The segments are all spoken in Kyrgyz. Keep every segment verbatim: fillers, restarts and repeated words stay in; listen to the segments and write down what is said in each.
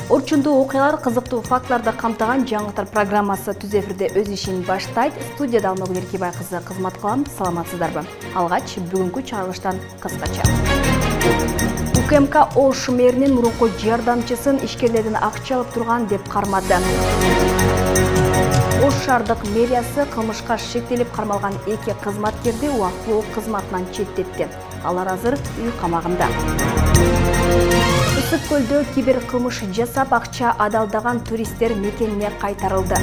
Орчундуу окуялар, кызыктуу фактыларды камтыган жаңылыктар программасы түз эфирде өз ишин баштайт. Студияда Алмагүл Эркебай кызы кызмат кылам. Саламатсыздарбы? Алгач бүгүнкү чыгарылыштан кыскача. УКМК Ош мэринин мурунку жардамчысын ишкерлерден акча алып турган деп кармады. Ош шаардык мэриясы кылмышка шектелип кармалган эки кызматкерди убактылуу кызматынан четтетти. Алар азыр үй камагында. Ысык көлдө кибер кылмыш жасап акча адалдаган туристтер мекенине кайтарылды.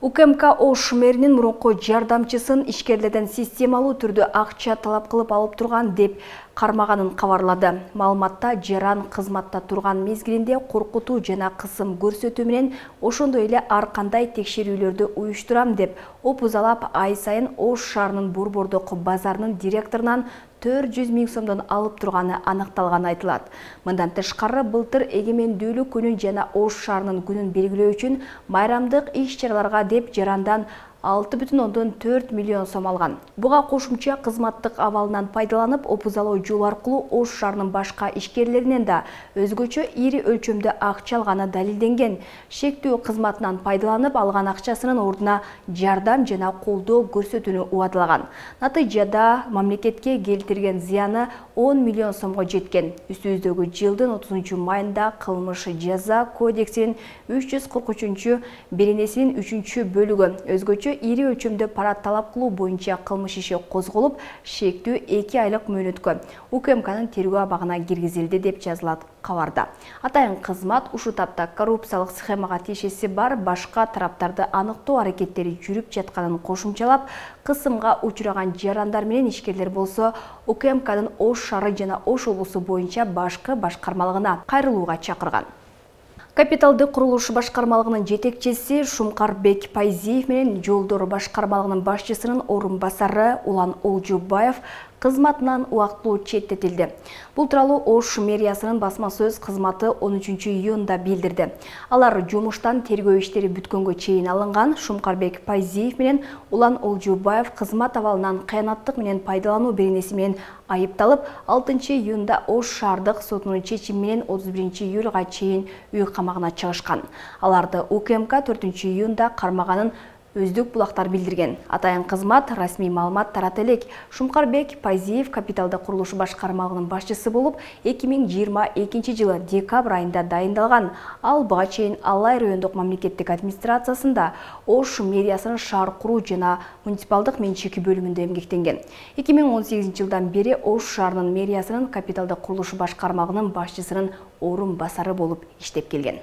УКМК Ош мэринин мурунку жардамчысын ишкерлерден системалуу түрдө акча талап кылып алып турган деп кармаганын кабарлады. Маалыматта жаран кызматта турган мезгилинде коркутуу жана кысым көрсөтүү менен ошондой эле ар кандай текшерүүлөрдү уюштурам деп опузалап ай сайын Ош шаарынын Борбордук базарынын директорунан төрт жүз миң сомдон алып турганы аныкталганы айтылат. Мындан тышкары былтыр эгемендүүлүк күнүн жана Ош шаарынын күнүн белгилөө үчүн майрамдык иш-чараларга деп жарандан алты бүтүн ондон төрт миллион сом алган. Буга кошумча кызматтык абалынан пайдаланып, опузалоо жол аркылуу Ош шаарынын башка ишкерлеринен да өзгөчө ири өлчөмдө акча алганы далилденген. Шектүү кызматынан пайдаланып алган акчасынын ордуна жардам жана колдоо көрсөтүүнү убадылаган. Натыйжада мамлекетке келтирген зыяны он миллион сомго жеткен. Үстүбүздөгү жылдын отузунчу майында кылмыш жаза кодексинин үч жүз кырк үчүнчү беренесинин үчүнчү бөлүгү өзгөчө ири өлчөмдө пара талап кылуу боюнча кылмыш иши козголуп, шектүү эки айлык мөөнөткө УКМКнын тергөө абагына киргизилди деп жазылат кабарда. Атайын кызмат ушул тапта коррупциялык схемага тиешеси бар башка тараптарды аныктоо аракеттери жүрүп жатканын кошумчалап, кысымга учураган жарандар менен ишкерлер болсо УКМКнын Ош шаары жана Ош облусу боюнча башкы башкармалыгына кайрылууга чакырган. Капиталдык курулуш башкармалыгынын жетекчиси Шумкарбек Пайзиев менен Жолдор башкармалыгынын башчысынын орун басары Улан Олжубаев кызматынан убактылуу четтетилди. Бул тууралуу Ош мэриясынын басма сөз кызматы он үчүнчү июнда билдирди. Алар жумуштан тергөө иштери бүткөнгө чейин алынган Шумкарбек Пайзиев менен Улан Олжубаев кызмат абалынан кыянаттык менен пайдалануу беренеси менен айыпталып, алтынчы июнда Ош шаардык сотунун чечими менен отуз биринчи июлга чейин үй камагына чыгышкан. Аларды УКМК төртүнчү июнда кармаганын Өздүк булактар билдирген. Атайын кызмат расмий маалымат тарата элек. Шумкарбек Пайзиев капиталдык курулуш башкармалыгынын башчысы болуп, эки миң жыйырма экинчи жылы декабрь айында дайындалган. Ал буга чейин Алай райондук мамлекеттик администрациясында Ош мэриясынын шаар куруу жана муниципалдык менчик бөлүмүндө эмгектенген. эки миң он сегизинчи жылдан бери Ош шаарынын мэриясынын капиталдык курулуш башкармалыгынын башчысынын орун басары болуп иштеп келген.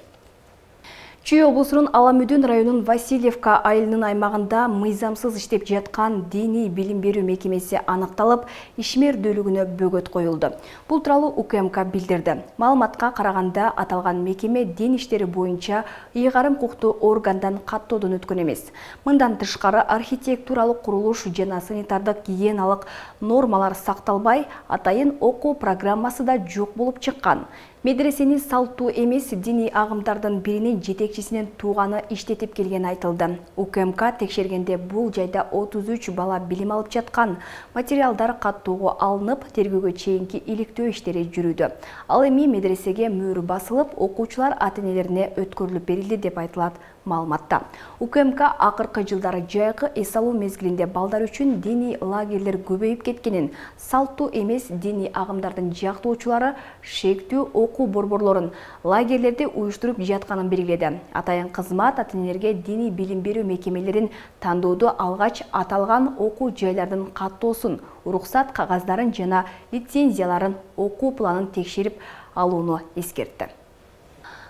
Чүй облусунун Аламүдүн районунун Васильевка айылынын аймагында мыйзамсыз иштеп жаткан диний билим берүү мекемеси аныкталып, ишмердүүлүгүнө бөгөт коюлду. Бул тууралуу УКМК билдирди. Маалыматка караганда аталган мекеме дин иштери боюнча ыйгарым укуктуу органдан каттоодон өткөн эмес. Мындан тышкары архитектуралык курулуш жана санитардык гигиеналык нормалар сакталбай, атайын окуу программасы да жок болуп чыккан. Медресени салттуу эмес диний агымдардын биринин жетекчисинин тууганы иштетип келгени айтылды. УКМК текшергенде бул жайда отуз үч бала билим алып жаткан. Материалдар каттоого алынып, тергөөгө чейинки иликтөө иштери жүрүүдө. Ал эми медресеге мөөр басылып, окуучулар ата-энелерине өткөрүлүп берилди деп айтылат маалыматта. УКМК акыркы жылдары жайкы эс алуу мезгилинде балдар үчүн диний лагерлер көбөйүп кеткенин, салттуу эмес диний агымдардын жактоочулары шектүү окуу борборлорун, лагерлерди уюштуруп жатканын белгиледи. Атайын кызмат ата-энелерге диний билим берүү мекемелерин тандоодо алгач аталган окуу жайлардын каттоосун, уруксат кагаздарын жана лицензияларын, окуу планын текшерип алууну эскертти.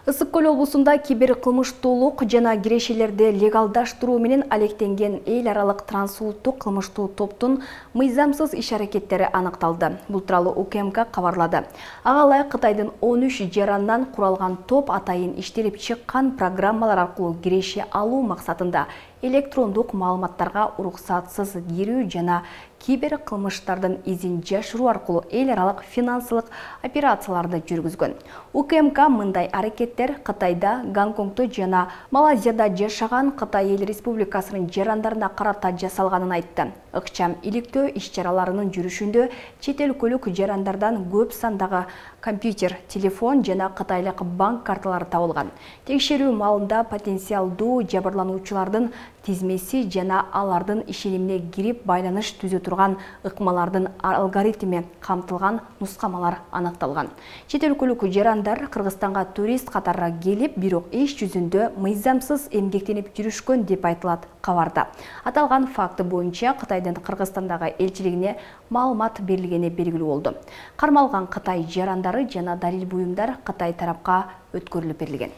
Ысык көл облусунда кибер кылмыштуулук жана кирешелерди легалдаштыруу менен алектенген эл аралык трансулуттук кылмыштуу топтун мыйзамсыз иш-аракеттери аныкталды. Бул тууралуу УКМК кабарлады. Ага ылайык Кытайдын он үч жарандан куралган топ атайын иштелип чыккан программалар аркылуу киреше алуу максатында электрондук маалыматтарга уруксатсыз кирүү жана кибер кылмыштардын изин жашыруу аркылуу эл аралык финансылык операцияларды жүргүзгөн. У К М К мындай аракеттер Кытайда, Гонконгдо жана Малайзияда жашаган Кытай Эл Республикасынын жарандарына карата жасалганын айтты. Ыкчам иликтөө иш-чараларынын жүрүшүндө чет өлкөлүк жарандардан көп сандагы компьютер, телефон жана кытайлык банк карталары табылган. Текшерүү маалында потенциалдуу жабырлануучулардын тизмеси жана алардын ишенимине кирип байланыш түзө турган ыкмалардын алгоритми камтылган нускамалар аныкталган. Чет өлкөлүк жарандар Кыргызстанга турист катары келип, бирок иш жүзүндө мыйзамсыз эмгектенип жүрүшкөн деп айтылат кабарда. Аталган факты боюнча Кытайдын Кыргызстандагы элчилигине маалымат берилгени белгилүү болду. Кармалган Кытай жарандары жана далил буюмдар Кытай тарапка өткөрүлүп берилген.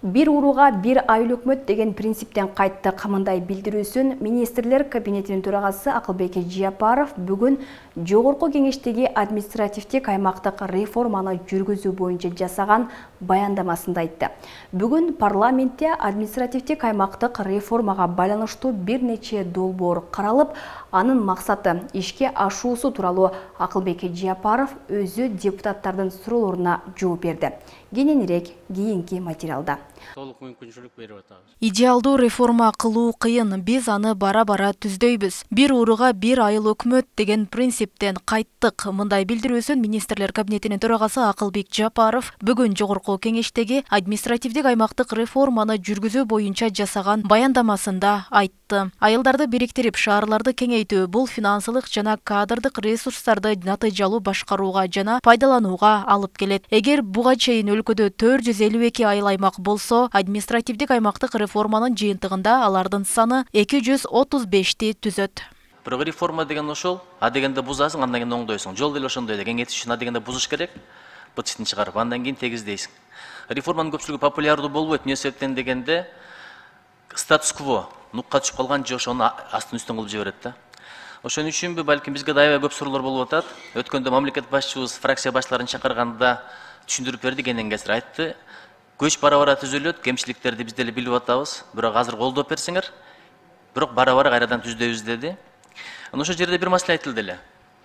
Бир урууга бир айыл өкмөт деген принциптен кайттык. Мындай билдирүүсүн министрлер кабинетинин төрагасы Акылбек Жапаров бүгүн жогорку кеңештеги административдик аймактык реформаны жүргүзүү боюнча жасаган баяндамасында айтты. Бүгүн парламентте административдик аймактык реформага байланыштуу бир нече долбоор каралып, анын максаты ишке ашуусу тууралуу Акылбек Жапаров өзү депутаттардын суроолоруна жооп берди. Кененирээк кийинки материалда. Толук мүмкүнчүлүк берип атабыз. Идеалдуу реформа кылуу кыйын, биз аны бара-бара түздөйбүз. Бир урууга бир айыл өкмөт деген принциптен кайттык. Мындай билдирүүсүн министрлер кабинетинин төрагасы Акылбек Жапаров бүгүн жогорку кеңештеги административдик аймактык реформаны жүргүзүү боюнча жасаган баяндамасында айтты. Айылдарды бириктирип, шаарларды кеңейтүү бул финансылык жана кадрдык ресурстарды натыйжалуу башкарууга жана пайдаланууга алып келет. Эгер буга чейин өлкөдө төрт жүз элүү эки айыл аймак болсо, административдик аймактык реформанын жыйынтыгында алардын саны эки жүз отуз бешти түзөт. Бирок реформа деген ошол, а дегенде бузасың, андан кийин оңдойсуң. Жол деле ошондой эле, кеңейтиш үчүн а дегенде бузуш керек, бытчытын чыгарып, андан кийин тегиздейсиң. Реформанын көпчүлүгү популярдуу болбойт, эмне себептен дегенде статус-кво, нукка түшүп калган же ошону астын үстүн кылып жиберет да. Ошон үчүнбү, балким бизге да аябай көп суроолор болуп атат. Өткөндө мамлекет башчыбыз фракция башларын чакырганда түшүндүрүп берди, кенен кесир айтты. Көч бара-бара түзүлөт, кемчиликтерди биз деле билип атабыз. Бирок азыр колдоп берсеңер, бирок бара-бара кайрадан түздөйбүз деди. Ошол жерде бир маселе айтылды эле.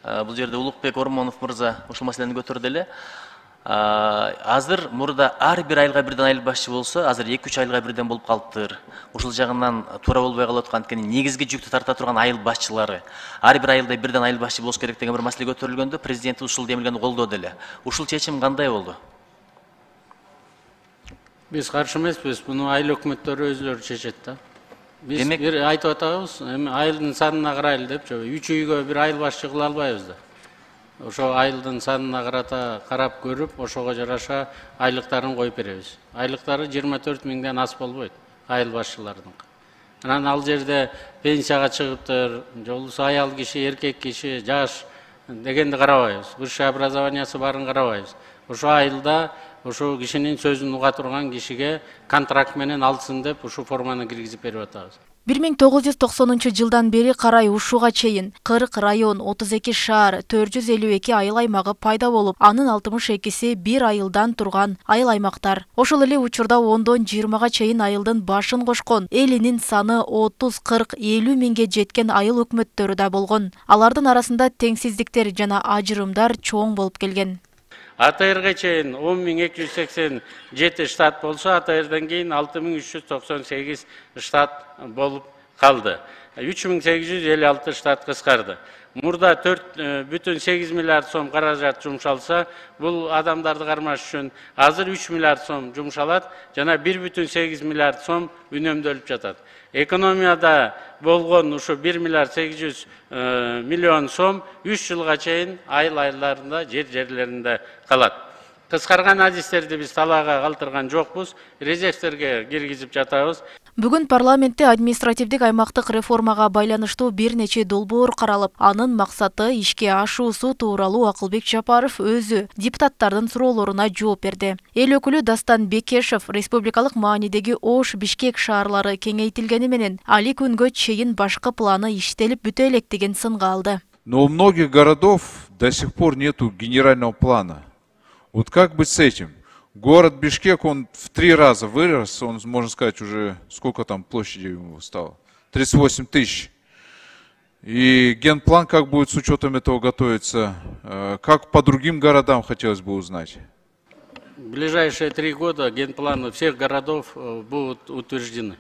Бул жерде Улукбек Ормонов мырза ушул маселени көтөрдү эле. Азыр мурда ар бир айылга бирден айыл башчы болсо, азыр эки үч айылга бирден болуп калыптыр. Ушул жагынан туура болбой калып аткан, анткени негизги жүктү тарта турган айыл башчылары ар бир айылда бирден айыл башчы болуш керек деген бир маселе көтөрүлгөндө, президент ушул демилгени колдоду эле. Ушул чечим кандай болду? Биз каршы эмеспиз, муну айыл өкмөттөрү өзүлөрү чечет да. Биз бир айтып атабыз, эми айылдын санына карайлы деп, үч үйгө бир айыл башчы кыла албайбыз да. Ошо айылдын санына карата карап көрүп, ошого жараша айлыктарын коюп беребиз. Айлыктары жыйырма төрт миңден аз болбойт айыл башчыларынын. Анан ал жерде пенсияга чыгыптыр, же болбосо аял киши, эркек киши, жаш дегенди карабайбыз. Высшее образованиясы барын карабайбыз. Ошо айылда ошо кишинин сөзүн уга турган кишиге контракт менен алсын деп ушу форманы киргизип берип атабыз. бир миң тогуз жүз токсонунчу жылдан бери карай ушуга чейин кырк район, отуз эки шаар, төрт жүз элүү эки айыл аймагы пайда болуп, анын алтымыш экиси бир айылдан турган айыл аймактар. Ошол эле учурда ондон жыйырмага чейин айылдын башын кошкон, элинин саны отуз, кырк, элүү миңге жеткен айыл өкмөттөрү да болгон. Алардын арасында теңсиздиктер жана ажырымдар чоң болуп келген. А Т Р'га чейин он миң эки жүз сексен жети штат болсо, А Т Р'дан кийин алты миң үч жүз токсон сегиз штат болуп калды. үч миң сегиз жүз элүү алты штат кыскарды. Мурда төрт бүтүн сегиз миллиард сом каражат жумшалса, бул адамдарды кармаш үчүн азыр үч миллиард сом жумшалат, жана бир бүтүн сегиз миллиард сом үнөмдөлүп жатат. Экономияда болгон ушу бир миллиард сегиз жүз миллион сом үч жылга чейин айыл айылдарында, жер жерлеринде калат. Кыскарган адистерди биз талаага калтырган жокпуз, резервтерге киргизип жатабыз. Бүгүн парламентте административдик аймактык реформага байланыштуу бир нече долбоор каралып, анын максаты ишке ашуусу тууралуу Акылбек Жапаров өзү депутаттардын суроолоруна жооп берди. Эл өкүлү Дастан Бекешев республикалык маанидеги Ош, Бишкек шаарлары кеңейтилгени менен али күнгө чейин башкы планы иштелип бүтө элек деген сынга алды. Но у многих городов до сих пор нету генерального плана. Вот как быть с этим? Город Бишкек, он в три раза вырос, он, можно сказать, уже сколько там площади ему стало? тридцать восемь тысяч. И генплан как будет с учетом этого готовиться? Как по другим городам, хотелось бы узнать? В ближайшие три года генпланы всех городов будут утверждены.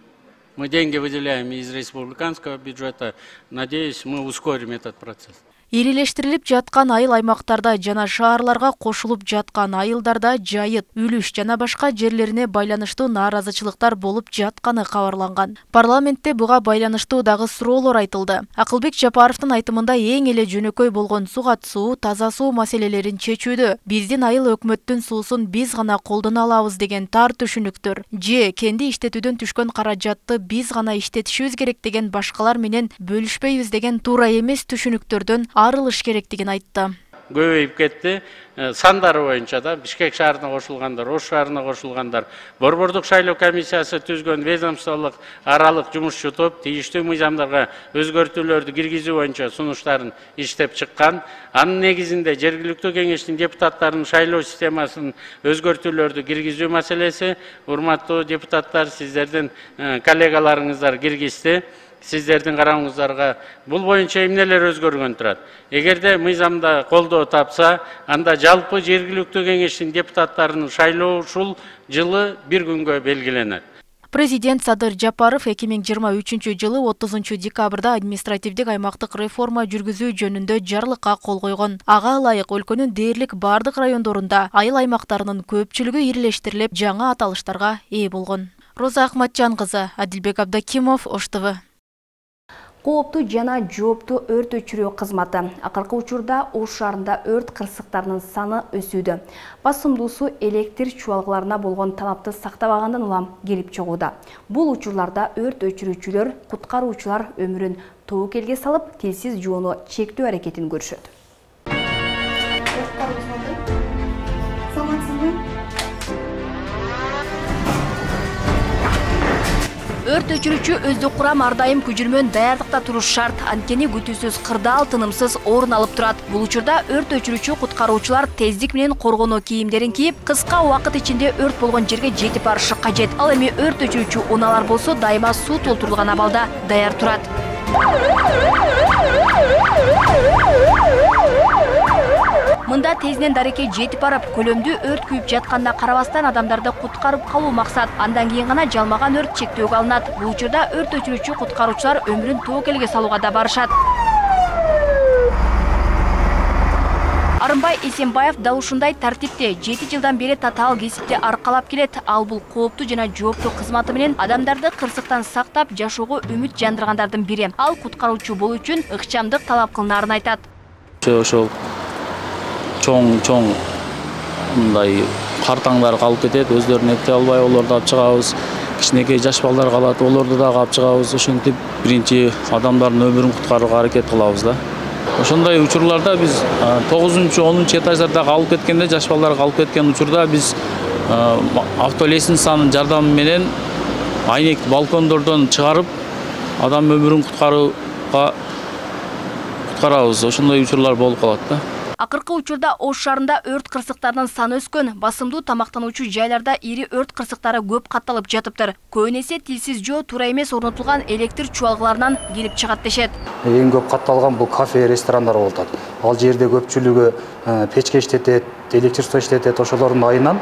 Мы деньги выделяем из республиканского бюджета. Надеюсь, мы ускорим этот процесс. Ирилештирилип жаткан айыл аймактарда жана шаарларга кошулуп жаткан айылдарда жайыт, үлүш жана башка жерлерине байланыштуу нааразычылыктар болуп жатканы кабарланган. Парламентте буга байланыштуу дагы суроолор айтылды. Акылбек Жапаровдун айтымында эң эле жөнөкөй болгон сугат суу, таза суу маселелерин чечүүдө биздин айыл өкмөттүн суусун биз гана колдоно алабыз деген тар түшүнүктөр, же кенди иштетүүдөн түшкөн каражатты биз гана иштетишибиз керек деген башкалар менен бөлүшпөйбүз деген туура эмес түшүнүктөрдөн арылыш керектигин айтты. Көбөйүп кетти. Сандары боюнча да Бишкек шаарына кошулгандар, Ош шаарына кошулгандар, Борбордук шайлоо комиссиясы түзгөн ведомстволук аралык жумушчу топ тийиштүү мыйзамдарга өзгөртүүлөрдү киргизүү боюнча сунуштарын иштеп чыккан. Анын негизинде жергиликтүү кеңештин депутаттарынын шайлоо системасын өзгөртүүлөрдү киргизүү маселеси, урматтуу депутаттар, сиздердин коллегаларыңыздар киргизди. Сиздердин карооңуздарга бул боюнча эмнелер өзгөргөн турат. Эгерде мыйзамда колдоо тапса, анда жалпы жергиликтүү кеңештин депутаттарынын шайлоо ушул жылы бир күнгө белгиленет. Президент Садыр Жапаров эки миң жыйырма үчүнчү жылы отузунчу декабрда административдик аймактык реформа жүргүзүү жөнүндө жарлыкка кол койгон. Ага ылайык өлкөнүн дээрлик бардык райондорунда айыл аймактарынын көпчүлүгү ирилештирилип, жаңа аталыштарга ээ болгон. Роза Ахматжан кызы, Адилбек Абдакимов, Ош ТВ. Кооптуу жана жооптуу өрт өчүрүү кызматы. Акыркы учурда Ош шаарында өрт кырсыктарынын саны өсүүдө. Басымдуусу электр чубалгыларына болгон талапты сактабагандан улам келип чыгууда. Бул учурларда өрт өчүрүүчүлөр, куткаруучулар өмүрүн тобокелге салып, телсиз жоону чектөө аракетин көрүшөт. Өрт өчүрүүчү өздүк курам ар дайым күжүрмөн даярдыкта туруш шарт. Анткени күтүүсүз, кырдаал, тынымсыз орун алып турат. Бул учурда өрт өчүрүүчү куткаруучулар тездик менен коргонуу кийимдерин кийип, кыска убакыт ичинде өрт болгон жерге жетип барышы кажет. Ал эми өрт өчүрүүчү унаалар болсо дайыма суу толтурулган абалда даяр турат. Мында тезинен дарекет жетип барып, көлөмдүү өрт күйүп жатканына карабастан адамдарды куткарып калуу максат. Андан кийин гана жалмаган өрт чектөөгө алынат. Бул учурда өрт өчүрүүчү куткаруучулар өмүрүн тобокелге салууга да барышат. Арымбай Эсенбаев дал ушундай тартипте жети жылдан бери татаал кесипти аркалап келет. Ал бул кооптуу жана жооптуу кызматы менен адамдарды кырсыктан сактап, жашоого үмүт жандыргандардын бири. Ал куткаруучу болуу үчүн ыкчамдык талап кылынаарын айтат. Ошол чоң-чоң мындай картаңдар калып кетет, өздөрүн эптей албай олорду алып чыгабыз. Кичинекей жаш балдар калат, олорду дагы алып чыгабыз. Ошентип биринчи адамдардын өмүрүн куткарууга аракет кылабыз да. Ошондой учурларда биз тогузунчу онунчу этаждарда калып кеткенде, жаш балдар калып кеткен учурда биз автолестницанын жардамы менен айнек балкондордон чыгарып, адам өмүрүн куткарууга куткарабыз. Ошондой учурлар болуп калат да. Акыркы учурда Ош шаарында өрт кырсыктарынын саны өскөн. Басымдуу тамактануучу жайларда ири өрт кырсыктары көп катталып жатыптыр. Көбүнесе тилсиз жоо туура эмес орнотулган электр чубалгыларынан келип чыгат дешет. Эң көп катталган бул кафе, ресторандар болот. Ал жерде көпчүлүгү печке иштетет, электричество иштетет, ошолордун айынан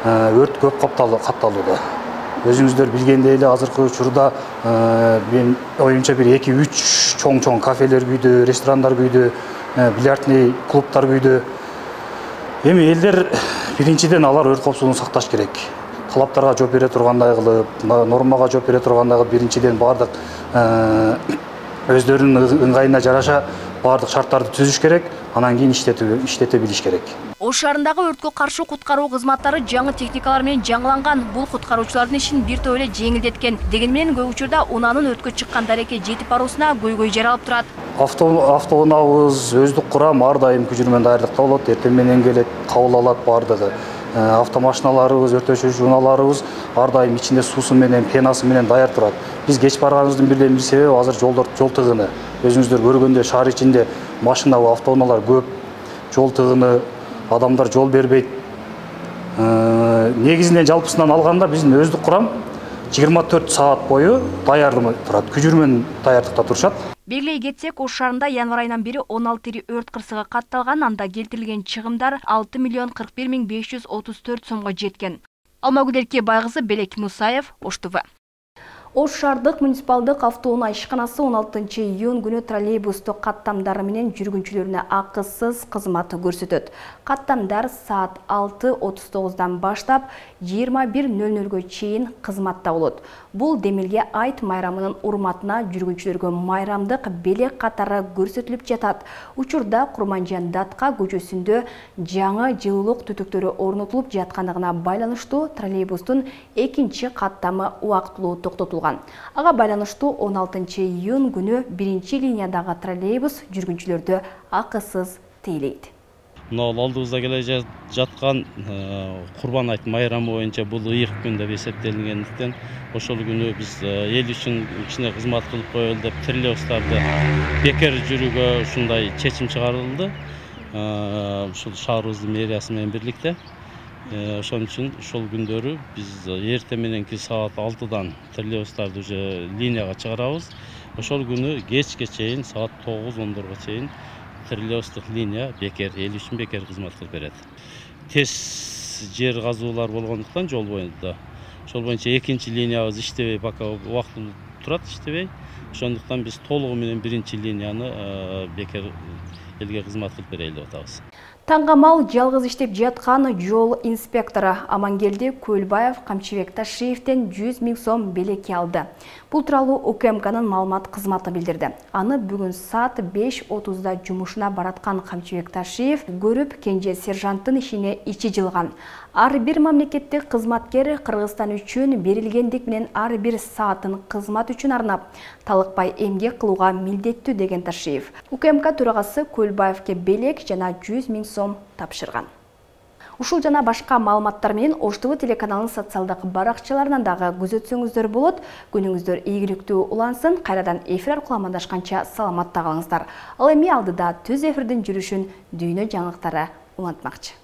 өрт көп катталууда. Өзүңүздөр билгендей эле азыркы учурда мен оюмча бир эки үч чоң-чоң кафелер күйдү, ресторандар күйдү, бильярдный клубтар күйдү. Эми элдер биринчиден алар өрт коопсуздугун сакташ керек. Талаптарга жооп бере тургандай кылып, нормага жооп бере тургандай кылып биринчиден бардык өздөрүнүн ыңгайына жараша бардык шарттарды түзүш керек, анан кийин иштете билиш керек. Ош шаарындагы өрткө каршы куткаруу кызматтары жаңы техникалар менен жаңыланган. Бул куткаруучулардын ишин бир топ эле жеңилдеткен. Деген менен көп учурда унаанын өрткө чыккан дарекет жетип баруусуна көйгөй жаралып турат. Автоунаабыз өздүк курам ар дайым күжүрмөн даярдыкта болот, эртең менен келет, кабыл алат бардыгы. Автомашиналарыбыз, өрт өчүрүүчү унааларыбыз ар дайым ичинде суусу менен, пенасы менен даяр турат. Биз кеч барганыбыздын бирден бир себеби азыр жолдор жол тыгыны. Өзүңүздөр көргөндөй шаар ичинде машина, автоунаалар көп, жол тыгыны, адамдар жол бербейт. негизинен жалпысынан алганда биздин өздүк курам жыйырма төрт саат бою даярдык турат, күжүрмөн даярдыкта турушат. Белгилей кетсек, Ош шаарында январь айынан бери он алты ири өрт кырсыгы катталган, анда келтирилген чыгымдар алты миллион кырк бир миң беш жүз отуз төрт сомго жеткен. Алмагүл Байгызы, Белек Мусаев, Ош ТВ. Ош шаардык муниципалдык автоунаа ишканасы он алтынчы июнь күнү троллейбусту каттамдары менен жүргүнчүлөрүнө акысыз кызмат көрсөтөт. Каттамдар саат алты отуз тогуздан баштап жыйырма бир нөл нөлгө чейин кызматта болот. Бул Демилге айт майрамынын урматына жүргүнчүлөргө майрамдык белек катары көрсөтүлүп жатат. Учурда Курманжан Датка көчөсүндө жаңы жылуулук түтүктөрү орнотулуп жаткандыгына байланыштуу троллейбустун экинчи каттамы убактылуу токтотулган. Ага байланыштуу он алтынчы июнь күнү биринчи линиядагы троллейбус жүргүнчүлөрдү акысыз тейлейт. Мына алдыбызда келе жаткан Курбан айт майрамы боюнча бул ыйык күн деп эсептелгендиктен ошол күнү биз эл үчүн кичине кызмат кылып коелу деп троллейбустарды бекер жүрүүгө ушундай чечим чыгарылды. Ушул шаарыбыздын мэриясы менен бирдикте. Ошон үчүн ошол күндөрү биз эртең мененки саат алтыдан троллейбустарды уже линияга чыгарабыз. Ошол күнү кечке чейин саат тогуз ондорго чейин троллейбустук линия бекер, эл үчүн бекер кызмат кылып берет. Тез жер казуулар болгондуктан жол боюнда ошол боюнча экинчи линиябыз иштебей, пока убактылуу турат, иштебей. Ошондуктан биз толугу менен биринчи линияны бекер элге кызмат кылып берели деп атабыз. Таңгамал жалгыз иштеп жаткан жол инспектору Амангелди Көлбаев Камчыбек Ташиевден жүз миң сом белекке алды. Бул тууралуу УКМКнын маалымат кызматы билдирди. Аны бүгүн саат беш отузда жумушуна бараткан Камчыбек Ташиев көрүп, кенже сержанттын ишине ичи жылган. Ар бир мамлекеттик кызматкер Кыргызстан үчүн берилгендик менен ар бир саатын кызмат үчүн арнап, талыкпай эмгек кылууга милдеттүү деген Ташиев. УКМК төрагасы Көлбаевке белек жана жүз миң сом тапшырган. Ушул жана башка маалыматтар менен Ош ТВ телеканалынын социалдык баракчаларынан дагы күзөтсөңүздөр болот. Күнүңүздөр ийгиликтүү улансын. Кайрадан эфир аркылуу амандашканча саламатта калыңыздар. Ал эми алдыда түз эфирдин жүрүшүн дүйнө жаңылыктары улантмакчы.